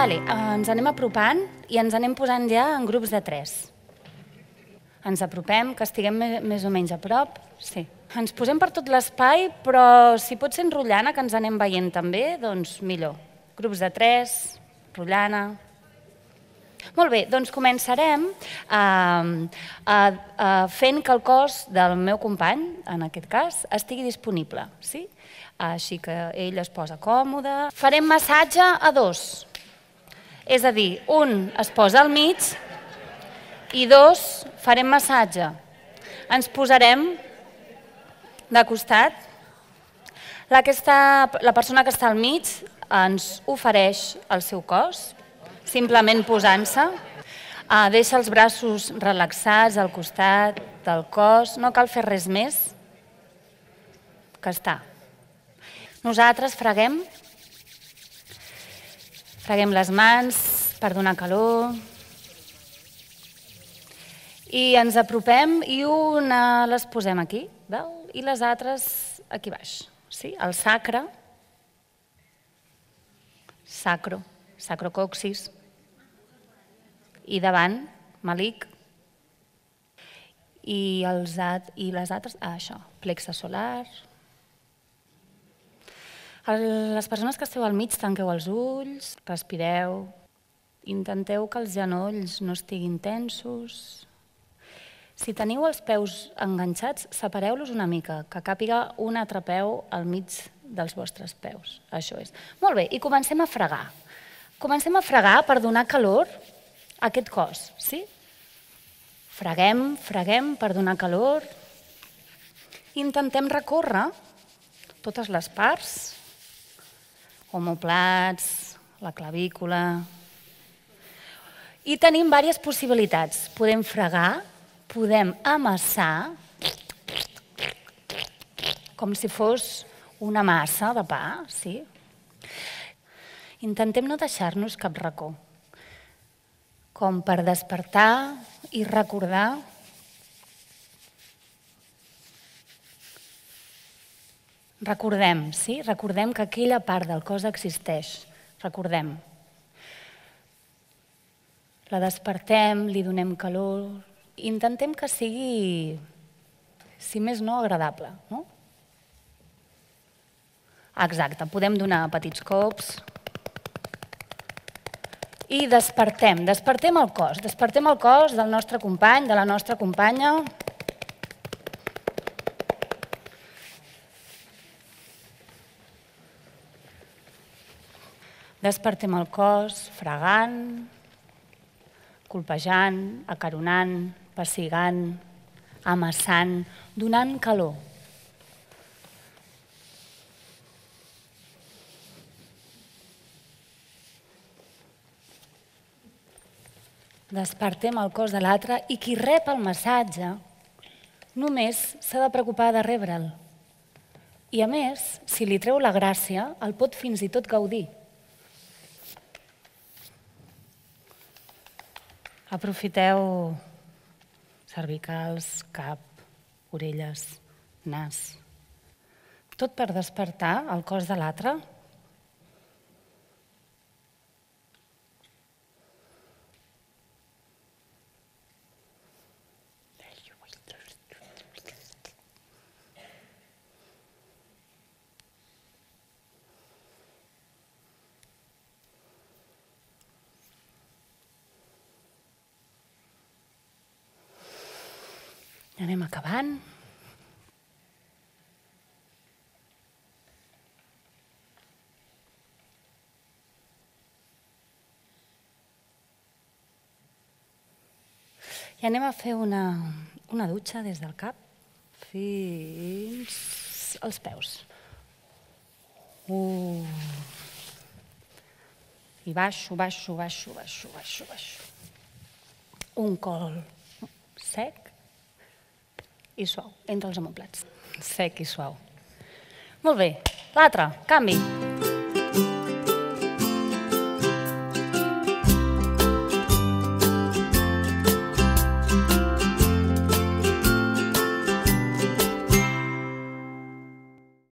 Ens anem apropant i ens anem posant ja en grups de 3. Ens apropem, que estiguem més o menys a prop. Sí. Ens posem per tot l'espai, però si pot ser enrotllant, que ens anem veient també, doncs millor. Grups de 3, enrotllant. Molt bé, doncs començarem fent que el cos del meu company, en aquest cas, estigui disponible. Així que ell es posa còmode. Farem massatge a 2. És a dir, un es posa al mig i 2 farem massatge. Ens posarem de costat. La persona que està al mig ens ofereix el seu cos, simplement posant-se. Deixa els braços relaxats al costat del cos, no cal fer res més que estar. Nosaltres freguem les mans per donar calor i ens apropem i una les posem aquí i les altres aquí baix. El sacre, sacrocoxis, i davant, malic, i les altres, això, plexe solar. Les persones que esteu al mig, tanqueu els ulls, respireu, intenteu que els genolls no estiguin tensos. Si teniu els peus enganxats, separeu-los una mica, que càpiga un altre peu al mig dels vostres peus. Això és. Molt bé, i comencem a fregar. Comencem a fregar per donar calor a aquest cos, sí? Freguem per donar calor. Intentem recórrer totes les parts, omoplats, la clavícula. I tenim diverses possibilitats. Podem fregar, podem amassar, com si fos una massa de pa, sí? Intentem no deixar-nos cap racó, com per despertar i recordar. Recordem, sí? Recordem que aquella part del cos existeix. Recordem. La despertem, li donem calor. Intentem que sigui, si més no, agradable. Exacte, podem donar petits cops. I despertem el cos. Despertem el cos del nostre company, de la nostra companya. Despertem el cos fregant, colpejant, acaronant, pessigant, amassant, donant calor. Despertem el cos de l'altre i qui rep el massatge només s'ha de preocupar de rebre'l. I a més, si li treu la gràcia, el pot fins i tot gaudir. Aprofiteu cervicals, cap, orelles, nas. Tot per despertar el cos de l'altre. Anem acabant. I anem a fer una dutxa des del cap fins als peus. I baixo. Un col sec i suau, entre els omoplats. Sec i suau. Molt bé. L'altre, canvi.